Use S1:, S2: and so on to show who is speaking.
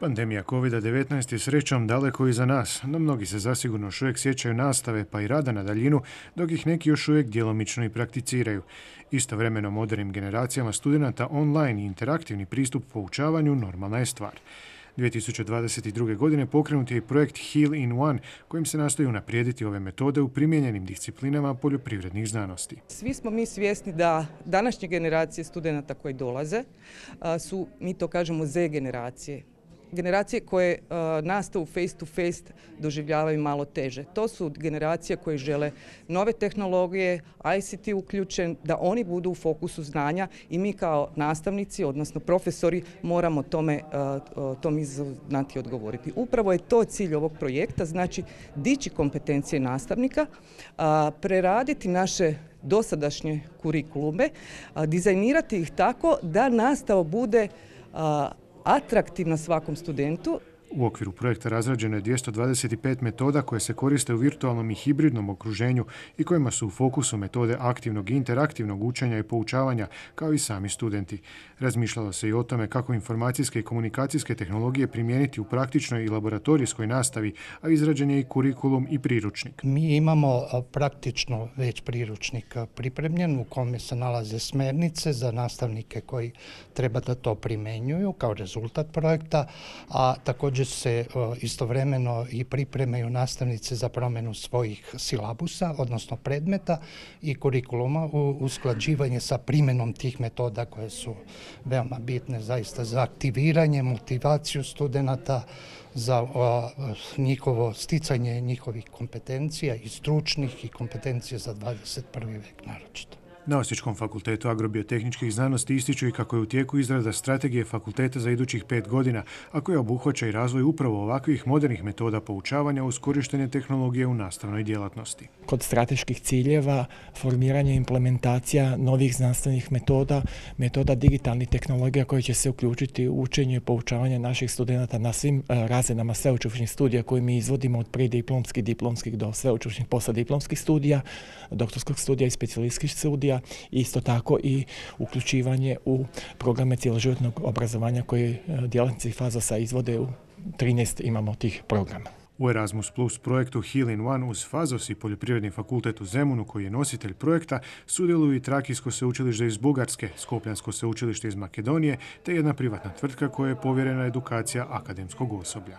S1: Pandemija COVID-19 je srećom daleko iza nas, no mnogi se zasigurno još uvijek sjećaju nastave pa i rada na daljinu, dok ih neki još uvijek djelomično i prakticiraju. Istovremeno modernim generacijama studenata online i interaktivni pristup poučavanju normalna je stvar. 2022. godine pokrenut je i projekt Heal in One, kojim se nastoji unaprijediti ove metode u primijenjenim disciplinama poljoprivrednih znanosti.
S2: Svi smo mi svjesni da današnje generacije studenata koji dolaze su, mi to kažemo, Z generacije. Generacije koje nastavu face to face doživljavaju malo teže. To su generacije koje žele nove tehnologije, ICT uključen, da oni budu u fokusu znanja i mi kao nastavnici, odnosno profesori, moramo tom izazovu znati odgovoriti. Upravo je to cilj ovog projekta, znači dići kompetencije nastavnika, preraditi naše dosadašnje kurikulume, dizajnirati ih tako da nastava bude atraktivna svakom studentu.
S1: U okviru projekta razrađeno je 225 metoda koje se koriste u virtualnom i hibridnom okruženju i kojima su u fokusu metode aktivnog i interaktivnog učenja i poučavanja, kao i sami studenti. Razmišljalo se i o tome kako informacijske i komunikacijske tehnologije primijeniti u praktičnoj i laboratorijskoj nastavi, a izrađen je i kurikulum i priručnik.
S3: Mi imamo praktično već priručnik pripremljen u kome se nalaze smjernice za nastavnike koji treba da to primjenjuju kao rezultat projekta, a također se istovremeno i pripremaju nastavnice za promjenu svojih silabusa, odnosno predmeta i kurikuluma u usklađivanje sa primjenom tih metoda koje su veoma bitne zaista za aktiviranje, motivaciju studenata, za njihovo sticanje njihovih kompetencija i stručnih i kompetencija za 21. vijek naročito.
S1: Na Osječkom fakultetu agrobiotehničkih znanosti ističu i kako je u tijeku izrada strategije fakulteta za idućih 5 godina, a koja obuhvaća i razvoj upravo ovakvih modernih metoda poučavanja uz korištenje tehnologije u nastavnoj djelatnosti.
S4: Kod strateških ciljeva, formiranje i implementacija novih znanstvenih metoda digitalnih tehnologija koje će se uključiti u učenje i poučavanje naših studenata na svim razinama sveučilišnih studija koje mi izvodimo od prediplomskih, diplomskih do sveučilišnih poslijediplomskih studija, doktorskog studija i specijalističkih studija. Isto tako i uključivanje u programe cjeloživotnog obrazovanja koje djelatnici Fazosa izvode u 13 imamo tih programa.
S1: U Erasmus Plus projektu Heal in One uz Fazos i Poljoprivredni fakultet u Zemunu, koji je nositelj projekta, sudjeluju i Trakijsko sveučilište iz Bugarske, Skopljansko sveučilište iz Makedonije te jedna privatna tvrtka koja je povjerena edukacija akademskog osoblja.